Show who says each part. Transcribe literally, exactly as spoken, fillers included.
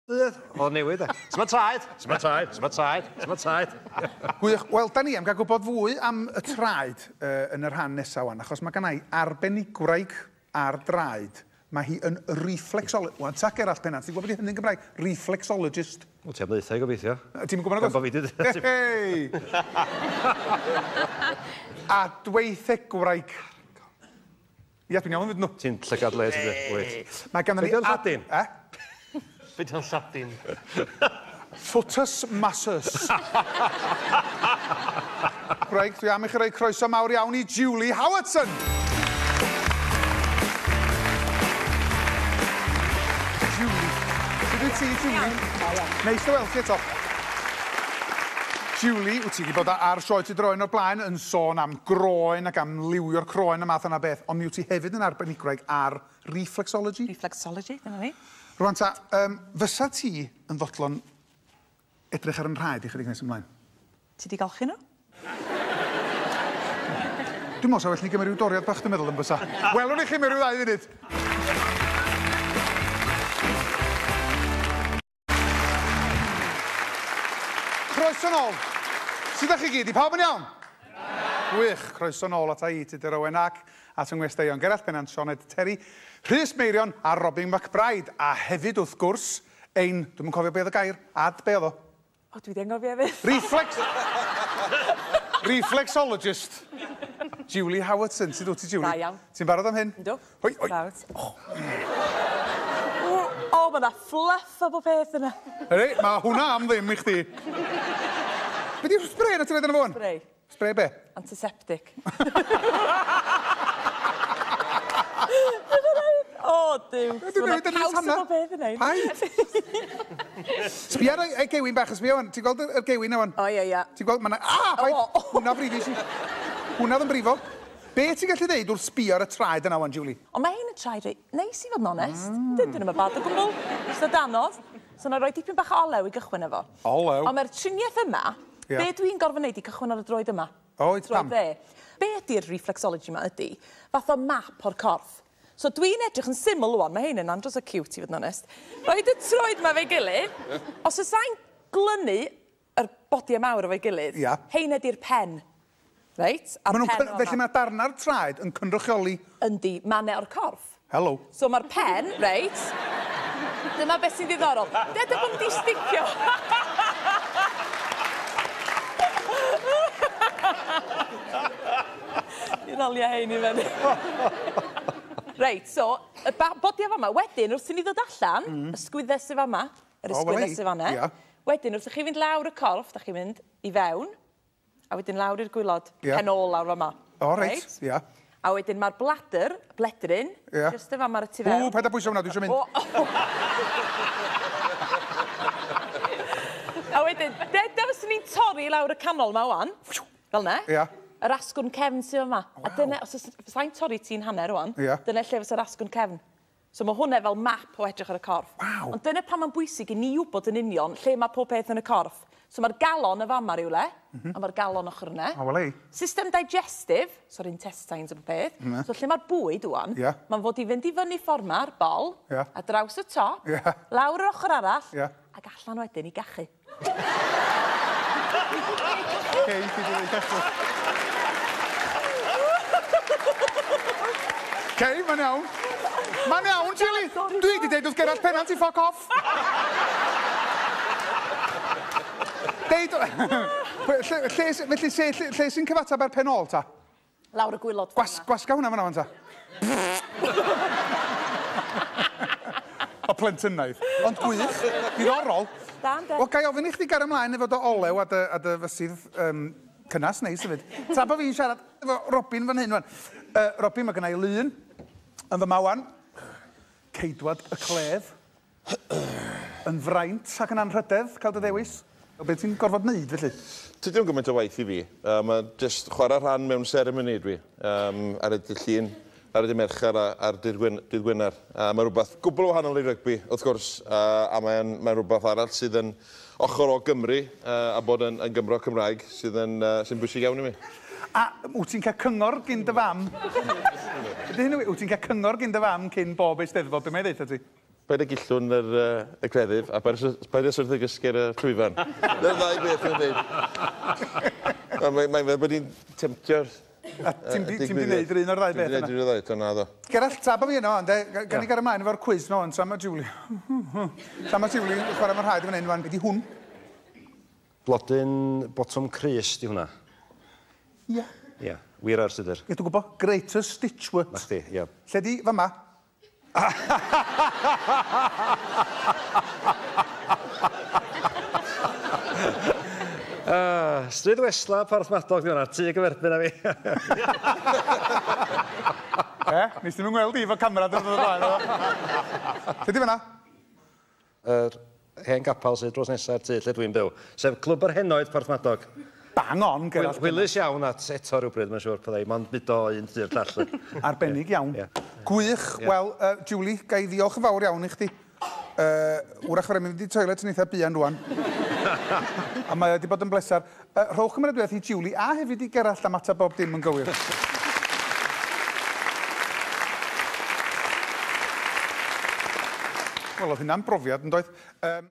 Speaker 1: Oedd newid e. Sma traed, sma traed, sma traed, sma traed.
Speaker 2: Gwych. Wel, da ni am gael gwybod fwy am y traed uh, yn y rhan nesaf wan, achos mae gennai arbenigwraig ar draed. Mae hi yn reflexologist. Wan, ta Gerallt Pennant, ti'n gwybod beth hynny'n Gymraeg? Reflexologist.
Speaker 1: Wel, ti am ddeutha i gobeithio.
Speaker 2: Ti'n gwybod
Speaker 1: nag oes?
Speaker 2: Hei! A dweithegwraig. Ia, dwi'n iawn fyd nhw.
Speaker 1: Ti'n llygad le, ti'n dweud.
Speaker 2: Mae ganddo ni...
Speaker 1: Be' 'di o'n Lladin?
Speaker 2: Eh?
Speaker 3: Be' 'di o'n Lladin?
Speaker 2: Footus massus. Gwraig, dwi am i chi roi croeso mawr iawn i Julie Howardson. Julie. Sut wyt ti, Julie? Neis dy weld ti eto. Julie, wyt ti wedi bod ar sioe Ti Droen o'r blaen yn sôn am groen ac am liwio'r croen a math yna beth, ond mi wyt ti hefyd yn arbenigwraig ar reflexology.
Speaker 4: Reflexology, dyna ni.
Speaker 2: Rwan ta, um, fysa ti yn fodlon edrych ar yn rhaed i chydig nes ymlaen?
Speaker 4: Ti di golchi nhw?
Speaker 2: Dwi'n meddwl sa well ni gymryd rhyw doriad bach, dwi'n meddwl yn bysa. Welwn i chi mewn rhyw ddau funud. Croeso nôl. Sut ydych chi gyd? I pawb yn iawn? Gwych. Croeso nôl ata i, Tudur Owen ac at yng ngwesteion Gerallt Pennant, Sioned Terry, Rhys Meirion a Robin McBryde. A hefyd, wrth gwrs, ein... Dwi'm yn cofio be oedd y gair. Ad, be oedd o?
Speaker 4: O, dwi wedi anghofio hefyd.
Speaker 2: Reflex... Reflexologist. Julie Howardson. Sut wyt ti, Julie?
Speaker 4: Da iawn.
Speaker 2: Ti'n barod am hyn?
Speaker 4: Yndw.
Speaker 2: Hoi, hoi.
Speaker 4: Barod. O, mae yna fluff o bob peth yna.
Speaker 2: Ydy, mae hwnna am ddim i chdi. Be di'r spray yna ti'n rhaid yna fo?
Speaker 4: Spray.
Speaker 2: Spray be?
Speaker 4: Antiseptic. O, Duw.
Speaker 2: Dwi'n
Speaker 4: Mae yna caws o bob peth yna.
Speaker 2: Paid. Sbia ar y gewyn bach, sbia wan. Ti'n gweld y gewyn na wan?
Speaker 4: O, ie, ie.
Speaker 2: Ti'n gweld, mae yna... Ah, paid! Hwna frifis i. Hwna oedd yn brifo. Be ti'n gallu ddeud wrth sbio ar y traed yna wan, Julie?
Speaker 4: Ond mae hyn yn traed reit neis i fod yn onest. Mm. Dyn nhw'n bad o gwbl. Jyst o danodd. So na roi dipyn bach o olew i gychwyn efo.
Speaker 2: Olew?
Speaker 4: Ond mae'r triniaeth yma, yeah. Be dwi'n gorfod wneud i cychwyn ar y droed yma?
Speaker 2: O, oh, pam?
Speaker 4: Dde. Be ydy'r reflexology yma ydy? Fath o map o'r corff. So dwi'n edrych yn syml wan, mae hyn yn andros o cute i fod yn onest. Roed y troed yma fe'i gilydd. Os oes i'n glynu yr bodiau mawr efo'i gilydd,
Speaker 2: yeah.
Speaker 4: Hein ydy'r pen. Reit, a'r pen
Speaker 2: felly mae darna'r traed yn cynrychioli...
Speaker 4: Yndi, mannau o'r corff.
Speaker 2: Hello.
Speaker 4: So mae'r pen, reit, dyma beth sy'n ddiddorol. Deda bod nhw wedi sticio. I'n alia hein i fyny. Reit, so, y bodiau fama, wedyn, wrth i ni ddod allan, mm. Ysgwyddau sydd fama, yr ysgwyddau sydd fanna.
Speaker 2: Yeah.
Speaker 4: Wedyn, wrth i chi fynd lawr y corff, da chi'n mynd i fewn, a wedyn lawr i'r gwylod,
Speaker 2: yeah.
Speaker 4: Pen ôl lawr fama.
Speaker 2: O, reit, ia. Yeah.
Speaker 4: A wedyn mae'r bladder, bledryn,
Speaker 2: yeah.
Speaker 4: Jyst y fama ar y tu fewn.
Speaker 2: Ww, paid â bwyso hwnna, dwi eisiau mynd.
Speaker 4: O, oh. A wedyn, deda fyswn ni'n torri lawr y canol ma wan, fel ne.
Speaker 2: Ia. Yeah.
Speaker 4: Yr asgwrn cefn sydd yma.
Speaker 2: Wow.
Speaker 4: A dyna, os fysai'n torri ti'n hanner wan,
Speaker 2: yeah.
Speaker 4: Dyna lle fysa'r asgwrn cefn. So mae hwnna fel map o edrych ar y corff.
Speaker 2: Wow.
Speaker 4: Ond dyna pan mae'n bwysig i ni wybod yn union lle mae pob peth yn y corff. So mae'r galon y fama rywle, mm -hmm. A mae'r galon ochr yna.
Speaker 2: O, wel ei.
Speaker 4: System digestive, so'r intestines o bob peth.
Speaker 2: Mm -hmm.
Speaker 4: So lle mae'r bwyd wan,
Speaker 2: yeah.
Speaker 4: Mae'n fod i fynd i fyny ffordd ma'r bol,
Speaker 2: yeah.
Speaker 4: A draws y top,
Speaker 2: yeah.
Speaker 4: Lawr yr ochr arall,
Speaker 2: yeah.
Speaker 4: Ac allan wedyn i gachu.
Speaker 2: Cei, ti di ddweud gachu. Cei, mae'n iawn. Mae'n iawn, Julie. Dwi wedi deud wrth Gerallt Pennant i ffoc off. Deud... Lle, lle, felly, lle, lle, lle sy'n cyfateb ar pen ôl, ta?
Speaker 4: Lawr y gwylod.
Speaker 2: Gwas, gwasga hwnna fan'na, fan, ta. O plentynaidd. Ond gwych, diddorol.
Speaker 4: Da, yndê.
Speaker 2: Wel, ga i ofyn i chdi gario ymlaen efo dy olew a dy, a dy fysydd um, cynnas neis hefyd. Tra bod fi'n siarad efo Robin fan hyn, wan. Uh, Robin, mae gynna i lun yn fyma wan. Ceidwad y cledd. Yn fraint ac yn anrhydedd cael dy ddewis. Be ti'n gorfod wneud, felly?
Speaker 5: Tydi o'n gymaint o waith i fi. Uh, mae jyst chwarae rhan mewn seremoni dwi. Um, ar y dydd Llun, ar y dydd Mercher a ar dydd Gwener. Uh, mae rhywbeth gwbl wahanol i rygbi, wrth gwrs, uh, a mae'n mae rhywbeth arall sydd yn ochr o Gymru uh, a bod yn, yn Gymro Cymraeg sydd yn, uh, sy'n bwysig iawn i mi.
Speaker 2: A wyt ti'n cael cyngor gyn dy fam? Ydy hyn, wyt ti'n cael cyngor gyn dy fam cyn bob Eisteddfod? Be mae'n ddeud ti?
Speaker 5: Paid â gillwn yr, uh, y cleddyf a paid â syrthio gysgu ar y llwyfan. Dyna'r ddau beth yn dweud. Mae'n mae fel bod hi'n temtio'r...
Speaker 2: A ti'n di wneud yr un o'r ddau beth yna?
Speaker 5: Ti'n di wneud yr un o'r ddau, dyna ddo.
Speaker 2: Gerallt, tra bod fi yno, ande, gan i gael ymlaen efo'r cwiz no, tra mae Julie... Tra mae Julie yn chwarae ma'n rhaid fan hyn, wan, be di hwn?
Speaker 1: Blodyn botwm crys di hwnna.
Speaker 2: Ia.
Speaker 1: Ia, wir ar sydd.
Speaker 2: Ie, dwi'n gwybod, Greater Stitchwort.
Speaker 1: Na chdi, ia.
Speaker 2: Lle di fama?
Speaker 1: Uh, Stryd Wesla, Porthmadog, di hwnna, tŷ gyferbyn â fi.
Speaker 2: E, nes ddim yn gweld i efo camera dod o'r blaen. Lle di fan'na?
Speaker 1: Yr hen gapel sydd dros nesa'r tŷ lle dwi'n byw, sef Clwb yr Henoed Porthmadog.
Speaker 2: Bang on, Gerallt.
Speaker 1: Hwylus iawn at eto rhywbryd, mae'n siŵr, byddai, mond mudo un tŷ'r llall.
Speaker 2: Arbennig iawn.
Speaker 1: Yeah.
Speaker 2: Gwych.
Speaker 1: Yeah.
Speaker 2: Wel, uh, Julie, ga i ddiolch yn fawr iawn i chdi. Uh, wrach fawr mynd i toilet yn eitha buan rwan. A mae wedi bod yn bleser. Uh, rhowch gymeradwyaeth i Julie a hefyd i Gerallt am ateb bob dim yn gywir. Wel, oedd hynna'n brofiad, yn doedd? Um,